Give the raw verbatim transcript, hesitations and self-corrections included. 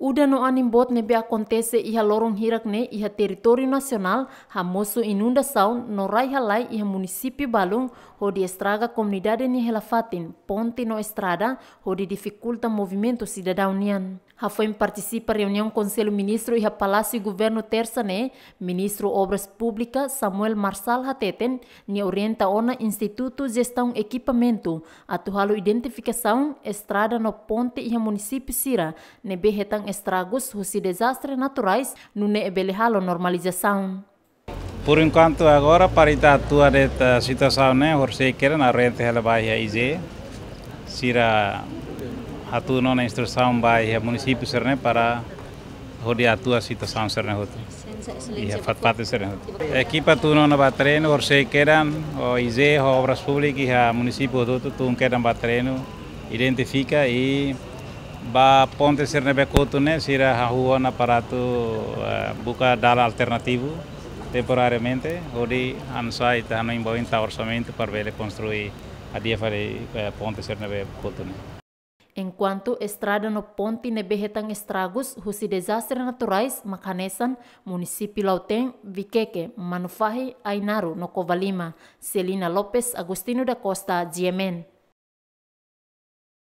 Udan no anin boot ne'ebé akontese iha loron hirak ne'e iha territóriu nasionál hamosu inundasaun no rai-halai iha munisípiu balun, hodi estraga komunidade nia hela-fatin, ponte no estrada, hodi difikulta movimentu sidadaun nian. Hafoin partisipa reuniaun Konsellu Ministru iha Palásiu Governu Tersa ne'e, Ministru Obras Públikas Samuel Marçal hateten, nia orienta ona Institutu Jestaun Ekipamentu atu halo identifikasaun estrada no ponte iha munisípiu sira ne'ebé hetan estragus husi dezastre naturais, nune'e bele halo normalizasaun. Por enkuantu agora, para ita atua de'it situasaun ne'e, horisehik kedan orienta hela ba iha I J E, sira hatún ona instrusaun ba iha munisípiu sira-ne'e para hodi atua situasaun sira-ne'e hotu. Iha fatin-fatin sira-ne'e hotu. Ekipa tun ona ba terrenu, horisehik kedan, o I J E, ho Obras Públikas iha munisípiu hotu-hotu tun kedan ba terrenu, identifika i ba ponte sira ne'ebé kotu ne'e, sira hahú ona para atu, eh, buka dalan alternativu temporariamente, hodi hanesan ita hanoin ba oin tau orsamentu para bele konstrui hadi'a fali, eh, ponte sira ne'ebé kotu ne'e. Enkuantu estrada no ponte ne'ebé hetan estragus husi dezastre naturais mak hanesan munisípiu Lautém, Viqueque, Manufahi, Ainaro no Covalima. Celina Lopes, Agostinho da Costa, G M N.